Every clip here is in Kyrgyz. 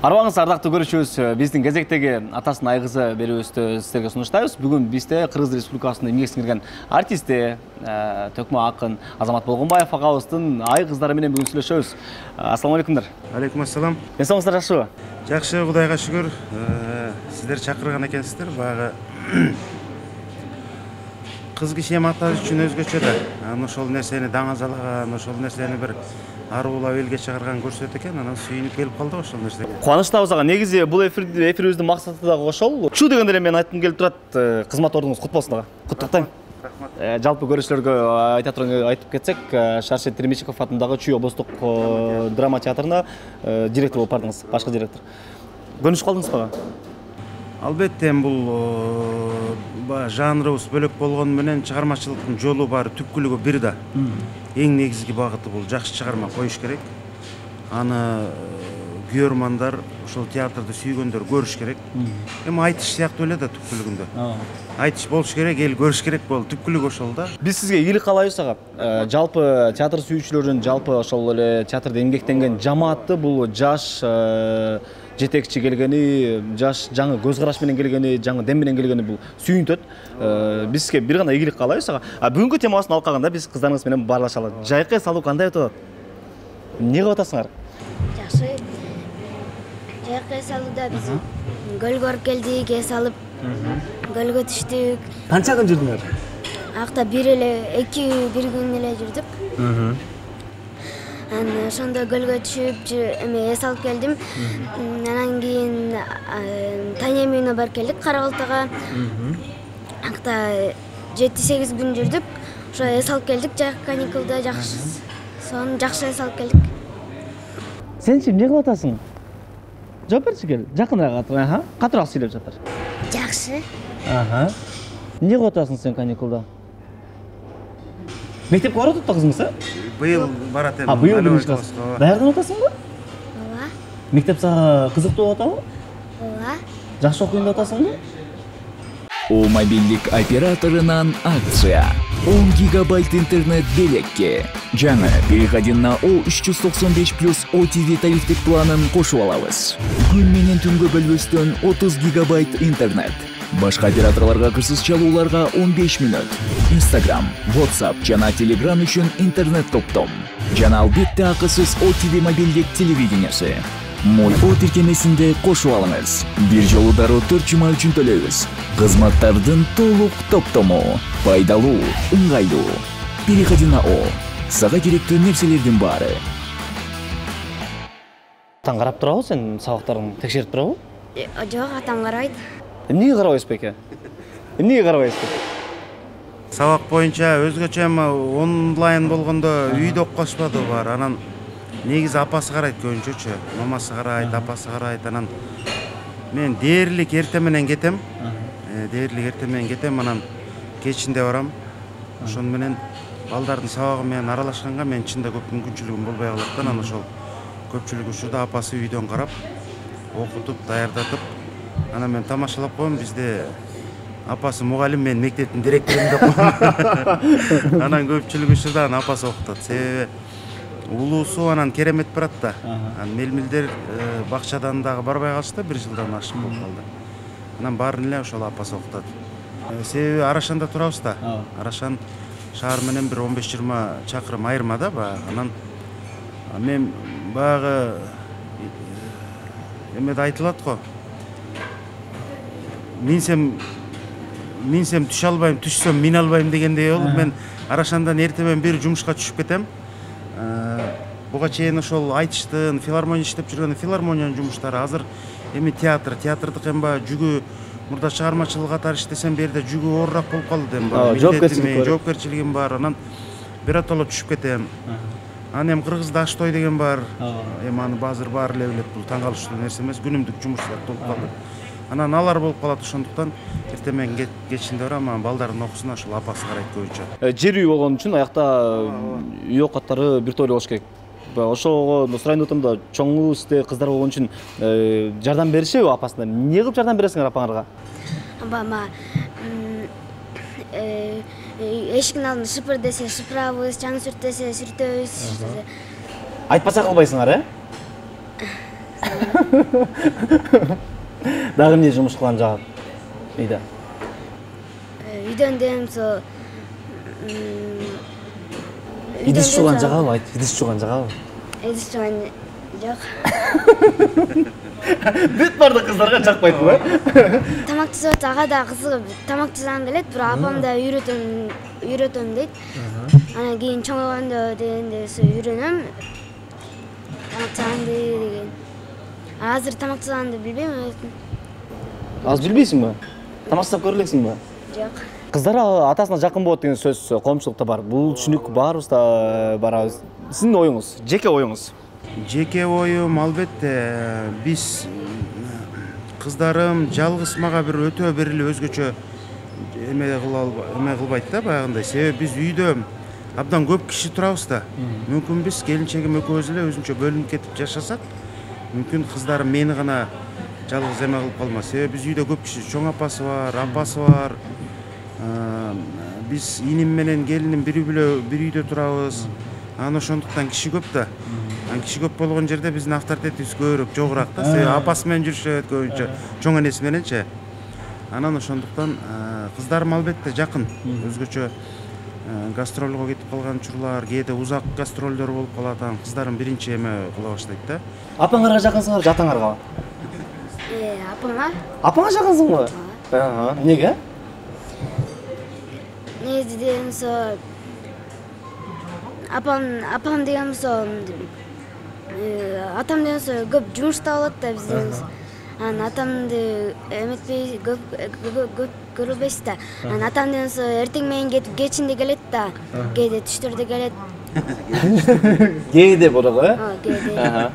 Арбаңыз ардактуу көрүүчүбүз, биздин кезектеги атасын айгызы берүүбүздү сиздерге сунуштайбыз. Бүгүн бизде Кыргыз Республикасынын эмгек сиңирген артисти, төкмө акын Азамат Болгонбаев агабыздын айгыздары менен бүгүн сүйлөшөбүз. Ассаламу алейкумдар. Алейкум ассалам. Денсаулыгыңыздар жакшыбы? Жакшы, Кудайга шүгүр. Сиздер чакырган экенсиздер. Баягы кыз киши атасы үчүн өзгөчө да. Ошол нерсени даңазалаган, ошол нерсени бир аруулап элге чыгарган көрсөт экен, анан сүйүнүп келип калдык ошол нерсеге. Кубанычтабыз ага. Негизи бул эфирибиздин максаты дагы ошол. Чу дегенде эле мен айткым келип турат. Кызмат ордуңуз кут болсун ага. Куттуктайм. Рахмат. Жалпы көрүүчүлөргө айтып кетсек, Шаршет Теремичиков атындагы Чүй облустук драма театрына директор болуп бардыңыз, башкы директор. Көнүшүп калдыңызбы ага? Албетте, бул жанрыбыз бөлөк болгону менен чыгармачылыктын жолу баары түпкүлүгү бир да. Эң негизги багыты бул жакшы чыгарма коюш керек. Аны көрөрмандар, ошол театрды сүйгөндөр көрүш керек. Эми айтыш сыяктуу эле да түпкүлүгүндө. Айтыш болуш керек, эл көрүш керек болду. Түпкүлүгү ошол да. Биз сизге ийгилик каалайбыз ага. Жалпы театр сүйүүчүлөрүн, жалпы ошол эле театрда эмгектенген жамаатты бул жаш жетекчи келгени, жаш жаңы көз караш менен келгени, жаңы дем менен келгени бул сүйүнтөт. Биз сизге бир гана ийгилик каалайбыз ага. Бүгүнкү темабыздын алкагында биз кыздарыңыз менен баарлашалы. Жайкы салуу кандай өтүп атат? Эмне кылып атасыңар? Жакшы. Жайкы салууда биз көлгө барып келдик, эс алып, көлгө түштүк. Канча күн жүрдүңөр? Акта бир күн эле жүрдүк. Ошондо көлгө түшүп, эс алып келдим. Анан кийин Таня үйүнө барып келдик, Карабалтага. Акта 7-8 күн жүрдүк. Ошо эс алып келдик, жайкы каникулда жакшы. Сону жакшы эс алып келдик. Сенчи эмне кылып атасың? Жооп берчи кел. Жакыныраак атыр, катыраак сүйлөп жатыр. Жакшы. Эмне кылып атасың сен каникулда? Мектепке барып атат кызыңыз, Быйыл барат эми. Быйыл биринчи класс. Даярданып атасыңбы? Ооба. Мектеп сага кызыктуу болуп атабы? Ооба. Жакшы окуйм деп атасыңбы? У мобилдик операторунан акция. 10 гигабайт интернет белекке. Жаңы переходи на O395+ OTV тарифтик планын кошуп алабыз. Күн менен түнгө бөлбөстөн 30 гигабайт интернет. Башка операторлорго кырсыз чалууларга 15 мүнөт. Instagram, WhatsApp жана Telegram үчүн интернет топтом. Жана албетте акысыз OTV мобилдик телевидениясы. Мой О тиркемесинде кошуп алыңыз. Бир жолу дароо 4 жума үчүн төлөйбүз. Кызматтардын толук топтому. Пайдалуу, ыңгайлуу. Переходи на О. Сага керектүү нерселердин баары. Атаң карап турабы, сен сабактарың текшерип турабы? Жок, атам карабайт. Эмнеге карабайсыз беке? Эмнеге карабайсыз? Сабак боюнча өзгөчө эми онлайн болгондо үйдө окушпады бар. Анан негизи апасы карайт көбүнчөчү. Мамасы карайт, апасы карайт. Анан мен дээрлик эртең менен кетем. Анан кечинде барам. Ошону менен балдардын сабагы менен аралашканга мен чында көп мүмкүнчүлүгүм болбой калат. Анан ошол көпчүлүк учурда апасы үйдөн карап, окутуп, даярдатып, анан мен тамашалап коем. Бизде апасы мугалим, мен мектептин директорум деп коем. Анан көпчүлүк учурда апасы окутат. Себеби улуусу анан керемет барат да. Мелмилдер бакчадан дагы барбай калышты, 1 жылдан ашык болуп калды. Анан баарын эле ошол апасы окутат. Себеби Арашанда турабыз да. Арашан шаар менен бир 15-20 чакырым айырмада баягы. Анан мен баягы эмеде айтылат го. Минсем түшө албайм, түшсөм мин албайм дегендей болуп, мен Арашандан эртемен бери жумушка түшүп кетем. Буга чейин ошол айтыштын, филармония иштеп жүргөн филармониянын жумуштары, азыр эми театрдык эмба жүгү мурда чыгармачылык катары иштесем, бу жерде жүгү оорураак болуп калды эми. Жоопкерчилигим бар. Анан биротоло түшүп кетем. Анан эми Кыргызда аш той деген бар. Эми аны азыр баары эле билет, бул таң калыштуу нерсе эмес, күнүмдүк жумуштар болуп калды. Анан алар болуп калат, ошондуктан эртемен кечинде барам, анан балдардын окуусуна ошол апасы карайт көбүнчө. Жер үй болгон үчүн аякта үй окаттары бир тойлуу болуш керек. Ошого сурайын деп атам да, чоңу сизде кыздар болгон үчүн жардам беришеби апасына? Эмне кылып жардам бересиңер апаңарга? Эшиктин алдын шыпыр десе шыпырабыз, чаң сүрт десе сүртөбүз. Айтпаса кылбайсыңар, Дагы эмне жумуш кылган жагат? Үйдө. Үйдөн демсо Идиш жууган жагабы? Айт, идиш жууган жагабы? Идиш жууган жок. Бүт барды кыздарга жакпайдыбы? Тамак жасап ага да кызыгып тамак жасагым келет, бирок апам да үйрөтөм дейт. Анан кийин чоңойгондо дегенде үйрөнөм. Тамак жасаганды деген. Азыр тамак жасаганды билбейм. Азыр билбейсиңби? Тамак жасап көрө элексиңби? Жок. Кыздар атасына жакын болот деген сөз коомчулукта бар. Бул түшүнүк баарыбызда бар. Сиздин оюңуз, жеке оюңуз. Жеке оюм албетте биз кыздарым жалгыз мага бир өтө бир эле өзгөчө эме кылбайт да баягындай. Себеби биз үйдө абдан көп киши турабыз да. Мүмкүн биз келинчегим экөөбүз эле өзүнчө бөлүнүп кетип жашасак, мүмкүн кыздарым мени гана жалгыз эме кылып калмас. Себеби биз үйдө көп киши, чоң апасы бар, апасы бар. Биз иним менен келиним бир үйдө турабыз. Анан ошондуктан киши көп да. Киши көп болгон жерде биздин авторитетибиз көбүрөөк, жогураак да. Себеби апасы менен жүрүшөт көбүнчө, чоң энеси мененчи. Анан ошондуктан кыздарым албетте жакын. Өзгөчө гастролго кетип калган учурлар, кээде узак гастролдор болуп калат. Анан кыздарым биринчи эме кыла баштайт да. Апаңарга жакынсыңар, жатаңарга? Апама? Апаңа жакынсыңбы? Эмнеге? Негизи дегенсо апам дегенсо атам дегенсо көп жумушта болот да бизден. Анан атамды эметпей көп көрбөйбүз да. Анан атам дегенсо эртең менен кетип кечинде келет да. Кээде түштөрдө келет. Кээде болобу, Кээде.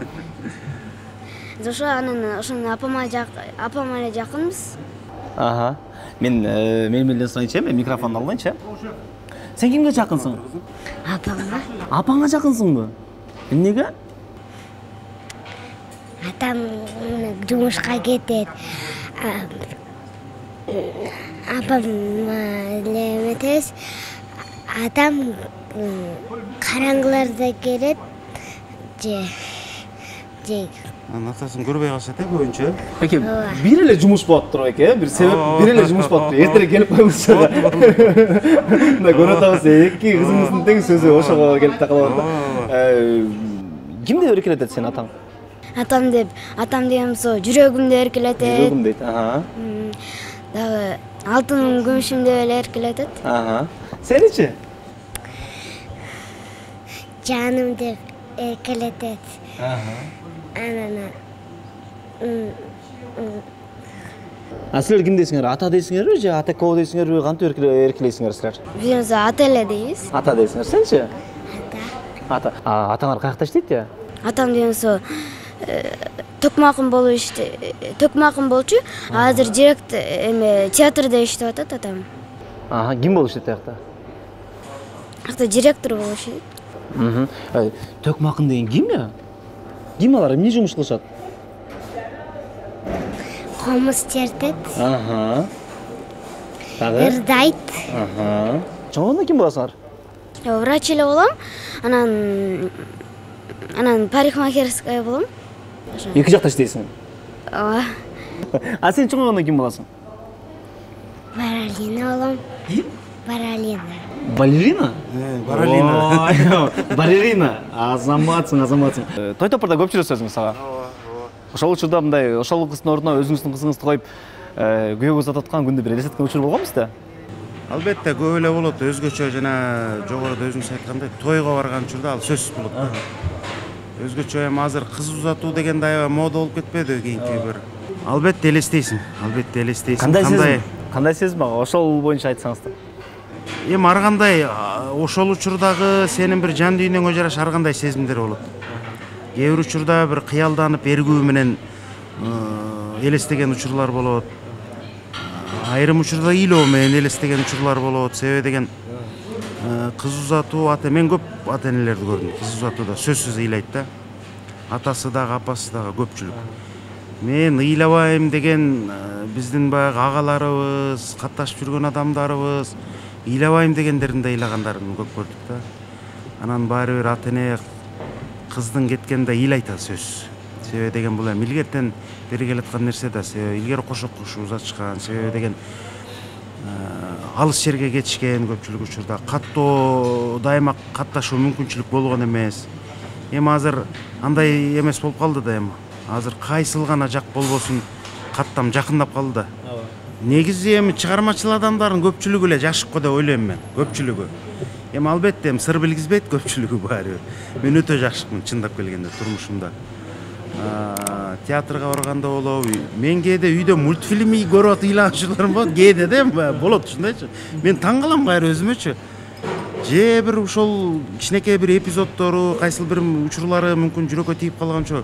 Ошо анан ошону апама эле жакынбыз. Мен менен сурайынчы, мен микрофонду алайынчы. Сен кимге жакынсың? Апама. Апаңа жакынсыңбы? Эмнеге? Атам жумушка кетет. Апам эле эметебиз. Атам караңгыларда келет. Анан атасын көрбөй калышат көбүнчө. Эке, бир эле жумуш болуп туруп эке, бир себеп бир эле жумуш болуп туруп. Эртерээк келип коюңузчу. Мына көрүп атабыз, эки кызыңыздын тең сөзү ошого келип такалып атат. Кимди эркелетет сени атаң? Атам дегенсо жүрөгүмдү эркелетет. Жүрөгүм дейт. Дагы алтыным күмүшүмдү эле эркелетет. Сеничи? Жаным деп эркелетет. Силер ким дейсиңер? Ата дейсиңерби же атекоо дейсиңерби? Кантип эркелейсиңер силер? Биз ата эле дейбиз. Ата дейсиңер. Сенчи? Ата. Атаңар каякта иштейт я? Атам дегенсо токмакын болчу. Азыр директор театрда иштеп атат атам. Ким болуп иштейт аякта? Акта директор болуп иштейт. Токмакын деген ким я? Ким алар? Эмне жумуш кылышат? Комуз чертет. Ырдайт. Чоңгондо ким болосуңар? Врач эле болом. Анан парикмахерская болом. Эки жакта иштейсиң? Ооба. Сен чоңгондо ким болосуң? Балерина болом. Балерина. Балерина. Азаматсың. Той топурда көп жүрөсүңүз сага? Ошол учурда мындай ошол кыздын ордуна өзүңүздүн кызыңызды коюп, күйөөгө uzатып аткан күндү бир элестеткен учур болгонбу сизде? Албетте көп эле болот. Өзгөчө жана жогоруда өзүңүз айткандай тойго барган учурда ал сөзсүз болот да. Өзгөчө азыр кыз узатуу деген аябай мода болуп кетпедиби кийинки бир. Албетте элестейсиң. Кандай сезим ага? Ошол боюнча айтсаңыздар. Ар кандай ошол учурдагы сенин бир жан дүйнөңө жараша ар кандай сезимдер болот. Кээ бир учурда бир кыялданып эргүү менен элестеген учурлар болот. Айрым учурда ыйлоо менен элестеген учурлар болот. Себеби деген кыз узатуу мен көп ата энелерди көрдүм. Кыз узатууда сөзсүз ыйлайт да. Атасы дагы, апасы дагы көпчүлүк. Мен ыйлабайм деген биздин баягы агаларыбыз, катташып жүргөн адамдарыбыз ыйлабайм дегендерин да ыйлагандарын көп көрдүк да. Анан баары бир ата эне кыздын кеткенде ыйлайт сөз. Себеби деген бул эми илгертен бери келаткан нерсе да. Себеби илгери кошок кушубуз ачкан. Себеби деген алыс жерге кетишкен көпчүлүк учурда каттоо дайыма катташуу мүмкүнчүлүк болгон эмес. Эми азыр андай эмес болуп калды да эми. Азыр кайсыл гана жак болбосун каттам жакындап калды да. Негизи эми чыгармачыл адамдардын көпчүлүгү эле жашык го деп ойлойм мен, көпчүлүгү. Эми албетте эми сыр билгизбейт көпчүлүгү баары. Мен өтө жакшымын чындап келгенде турмушумда. Театрга барганда болобу, мен кээде үйдө мультфильм көрүп ыйлаган учурларым болот, кээде да болот ушундайчы. Мен таң калам кайра өзүмөчү. Же бир ошол кичинекей бир эпизоддору, кайсыл бир учурлары мүмкүн жүрөккө тийип калганчо,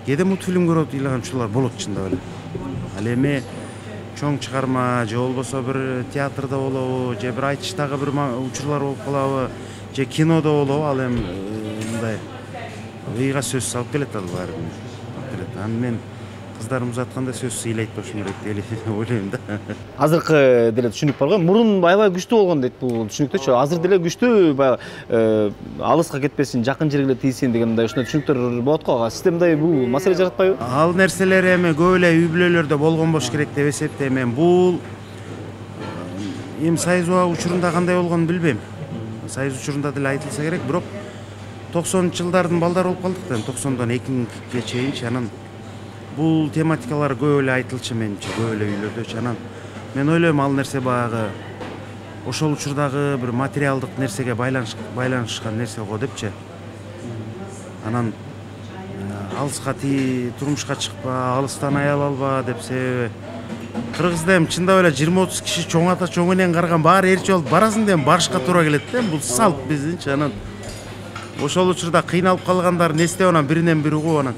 кээде мультфильм көрүп ыйлаган учурлар болот чындап эле. Ал эми чоң чыгарма же болбосо бир театрда болобу, же бир айтыштагы бир учурлар болуп калабы, же кинодо болобу, ал эми мындай ыйга сөзсүз алып келет ал баары. Анан мен кыздарым узатканда сөзсүз ыйлайт болушум керек деп ойлойм да. Азыркы деле түшүнүк бар го. Мурун аябай күчтүү болгон дейт бул түшүнүктөчү. Азыр деле күчтүү, баягы алыска кетпесин, жакын жерге эле тийсин деген мындай ушундай түшүнүктөр болот го. Сизде мындай бул маселе жаратпайбы? Ал нерселер эми көп эле үй бүлөлөрдө болгон болуш керек деп эсептейм. Мен бул эми Союз учурунда кандай болгонун билбейм. Союз учурунда деле айтылса керек, бирок 90-жылдардын балдары болуп калдык да, 90-дан 2000-ге чейинчи. Анан бул тематикалар көп эле айтылчу менимче, көп эле үйлөрдөчү. Анан мен ойлойм ал нерсе баягы ошол учурдагы бир материалдык нерсеге байланышкан нерсе го депчи. Анан алыска турмушка чыкпа, алыстан аял алба деп, себеби Кыргызда эми чындап эле 20-30 киши чоң ата чоң энең карган баары эрчи болуп барасың деп барышка туура келет да. Бул салт биздинчи. Анан ошол учурда кыйналып калгандар не эстеп анан биринен бири угуп анан.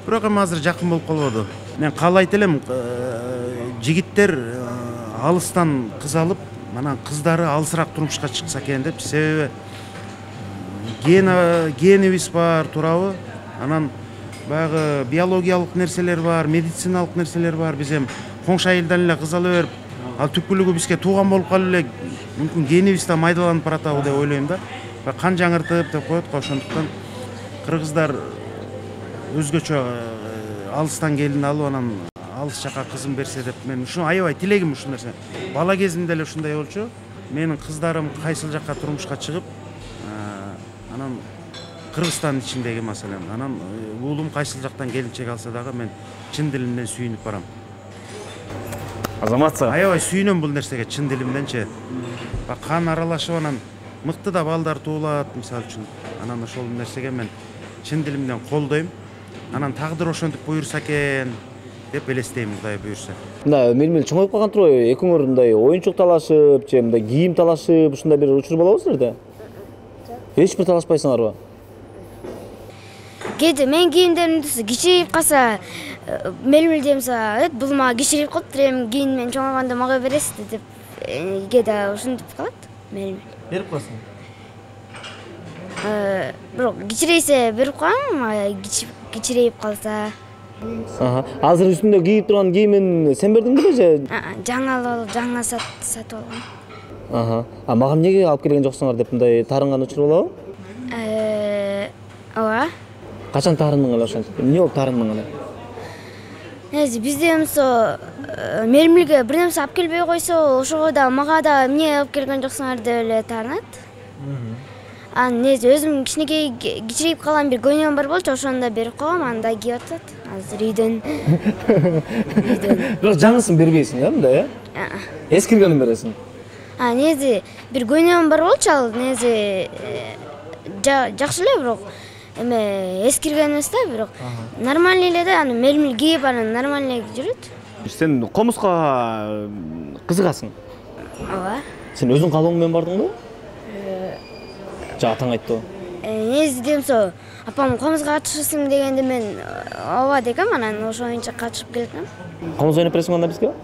Бирок эми азыр жакын болуп калбады. Мен каалайт элем жигиттер алыстан кыз алып, анан кыздары алысыраак турмушка чыкса экен деп. Себеби генибиз бар, туурабы? Анан баягы биологиялык нерселер бар, медициналык нерселер бар. Биз эми коңшу айылдан эле кыз ала берип, ал түпкүлүгү бизге тууган болуп калып эле мүмкүн генибиз да майдаланып баратабы деп ойлойм да. Кан жаңыртып деп коет го. Ошондуктан кыргыздар өзгөчө алыстан келин алып, анан алыс жака кызын берсе деп мен ушу аябай тилегим ушул нерсе. Бала кезимде эле ушундай болчу. Менин кыздарым кайсыл жака турмушка чыгып, анан Кыргызстандын ичиндеги маселем. Анан уулум кайсыл жактан келинчек алса дагы мен чын дилимден сүйүнүп барам. Азаматсыз. Аябай сүйүнөм бул нерсеге чын дилимденчи. Кан аралашып анан мыкты да балдар туулат мисалы үчүн. Анан ошол нерсеге мен чын дилимден колдойм. Анан тагдыр ошентип буйрса экен деп элестейм, Кудай буйрса. Мына мелмел чоңоюп калган турбайбы? Экөөңөр мындай оюнчук талашып, же мындай кийим талашып, ушундай бир учур болобу силерде? Эч бир талашпайсыңарбы? Кээде мен кийимдеримди кичирип калса, мелмел демсе, бул мага кичирип калыптыр, эми кийин мен чоңойгондо мага бересиз деп кээде ушинтип калат мелмел. Берип коесуң. Бирок кичирейсе берип коем, кичирейип калса. Азыр үстүндө кийип турган кийимин сен бердиң беле же? Жаңа сатып алгам. Мага эмнеге алып келген жоксуңар деп мындай таарынган учур болобу? Ооба. Качан таарындың эле ошентип? Эмне болуп таарындың эле? Бизде эмсо мелмелге бир нерсе алып келбей койсо, ошого да мага да эмне алып келген жоксуңар деп эле таарынат. Анан өзүм кичинекей кичирип калган бир көйнөгүм бар болчу, ошону да берип койгом, анда кийип атат. Азыр үйдөн. Бирок жаңысын бербейсиң, мындай, эскиргенин бересиң. Неси бир көйнөгүм бар болчу, ал неси жакшы эле, бирок эме эскирген эмес да, бирок нормальный эле да, аны мелмел кийип, анан нормальный жүрөт. Сен комузга кызыгасың? Ооба. Сен өзүң каалооң менен бардыңбы? Атаң айттыбы? Неси демсо, апам комузга катышасың дегенде мен ооба дегем, анан ошо боюнча катышып келдим. Комуз ойноп бересиң анда бизге?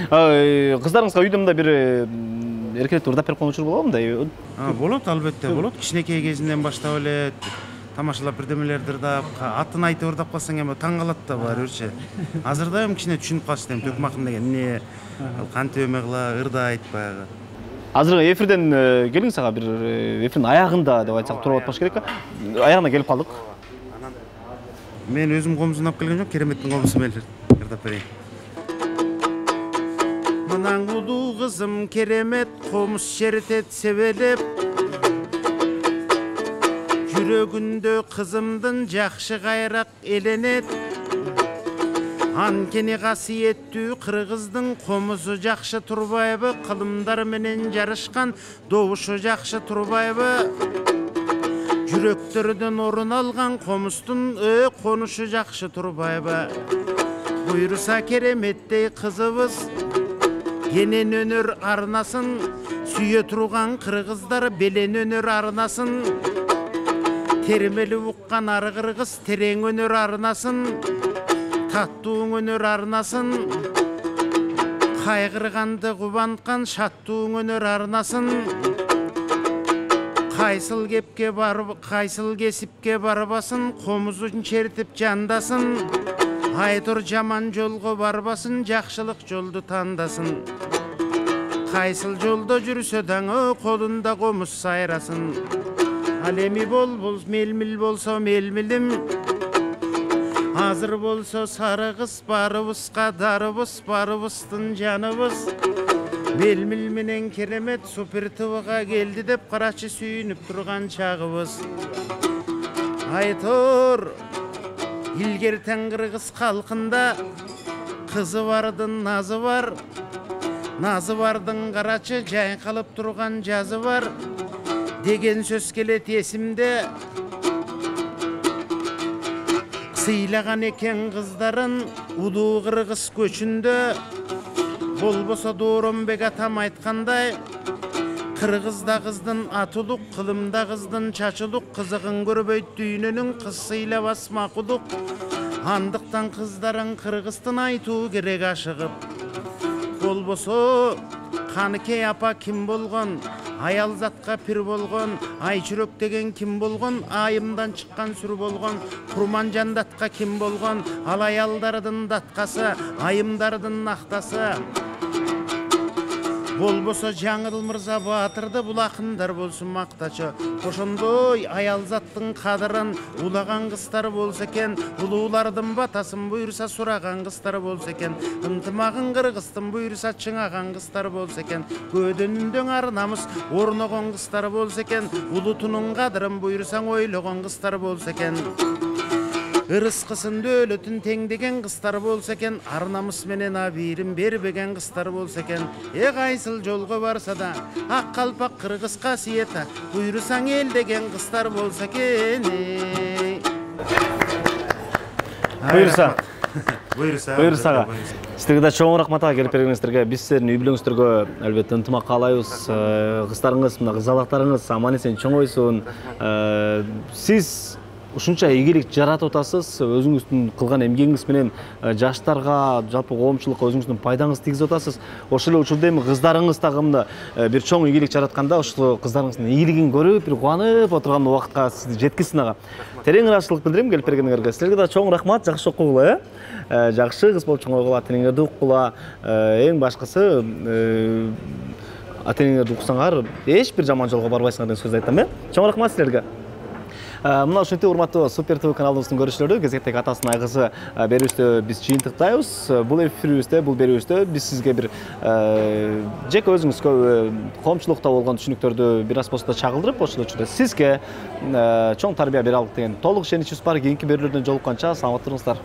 Кыздарыңызга үйдө мындай бир эркелетип ырдап берип койгон учур болобу мындай? Болот, албетте болот. Кичинекей кезинен баштап эле тамашалап бирдемелерди ырдап, атын айтып ырдап калсаң эми таң калат да баары бирчи. Азырда эми кичине түшүнүп калышты, эми Төкмакын деген эмне, кантип эме кыла, ырдайт баягы. Азыркы эфирден келиңиз ага бир эфирдин аягында деп айтсак туура болот болуш керек. Аягына келип калдык. Мен өзүм комузун алып келген жок, Кереметтин комузу менен ырдап берейин. Мынан улуу кызым Керемет комуз чертет себелеп, жүрөгүндө кызымдын жакшы кайрак эленет. Анткени касиеттүү кыргыздын комузу жакшы турбайбы, кылымдар менен жарышкан добушу жакшы турбайбы? Жүрөктөрдөн орун алган комуздун конушу жакшы турбайбы? Буйруса Кереметтей кызыбыз кенен өнөр арнасын, сүйө турган кыргыздар белен өнөр арнасын. Термели уккан ар кыргыз терең өнөр арнасын, таттуу өнөр арнасын. Кайгырганды кубанткан шаттуу өнөр арнасын. Кайсыл кесипке барбасын, комузун чертип жандасын. Айтор жаман жолго барбасын, жакшылык жолду тандасын. Кайсыл жолдо жүрсө даңы, колунда комуз сайрасын. Ал эми мелмил болсо мелмилим, азыр болсо сары кыз, барыбызга дарыбыз, барыбыздын жаныбыз. Мелмил менен Керемет Супер ТВга келди деп карачы сүйүнүп турган чагыбыз. Айтор илгертен кыргыз калкында кызы бардын назы бар, назы бардын карачы жайкалып турган жазы бар деген сөз келет эсимде. Сыйлаган экен кыздарын улуу кыргыз көчүндө, болбосо Дооронбек атам айткандай, кыргызда кыздын атылук, кылымда кыздын чачылук, кызыгын көрбөйт дүйнөнүн кыз сыйлабас макулук. Андыктан кыздарын кыргыздын айтуу керек ашыгып. Болбосо Каныкей апа ким болгон, аял затка пир болгон, Айчүрөк деген ким болгон, айымдан чыккан сүр болгон, Курманжан датка ким болгон, ал аялдардын datkасы, айымдардын актасы. Болбосо Жаңыл Мырза Баатырды бул акындар болсун мактачы. Ошондой аял заттын кадырын улаган кыздар болсо экен, улуулардын батасын буйруса сураган кыздар болсо экен, ынтымагын кыргыздын буйруса чыңаган кыздар болсо экен, көөдөнүндө ар намыс орногон кыздар болсо экен, улутунун кадырын буйрусаң ойлогон кыздар болсо экен. Ырыскысын дөөлөтүн теңдеген кыздар болсо экен, ар намыс менен абийирин бербеген кыздар болсо экен. Кайсыл жолго барса да ак калпак кыргыз касиети буйрусаң эл деген кыздар болсо экен. Буйруса. Силерге да чоң рахмат келип бергениңиздерге. Биз сиздердин үй бүлөңүздөргө албетте ынтымак каалайбыз. Кыздарыңыз, мына кызалактарыңыз аман эсен чоңойсун. Сиз ушунча ийгилик жаратып атасыз, өзүңүздүн кылган эмгегиңиз менен жаштарга, жалпы коомчулукка өзүңүздүн пайдаңызды тийгизип атасыз. Ошол эле учурда эми кыздарыңыз дагы мында бир чоң ийгилик жаратканда, ошол кыздарыңыздын ийгилигин көрүп, бир кубанып отурган убакытка сизди жеткизсин ага. Терең ыраазычылык билдирем келип бергениңерге. Силерге да чоң рахмат, жакшы окугула, жакшы кыз болуп чоңойгула, теңиңерди уккула. Эң башкысы ата-энеңерди уксаңар, эч бир жаман жолго барбайсыңар деген сөз айтам, Чоң рахмат силерге. Мына ушинтип урматтуу Супер ТВ каналыбыздын көрүүчүлөрү, кезектеги атасынын айгызы берүүбүздө биз жыйынтыктайбыз. Бул эфирибизде, бул берүүбүздө биз сизге бир жеке өзүңүзгө коомчулукта болгон түшүнүктөрдү бир аз болсо да чагылдырып, ошол учурда сизге чоң тарбия бере алдык деген толук ишеничибиз бар. Кийинки берүүлөрдөн жолукканча саламат туруңуздар.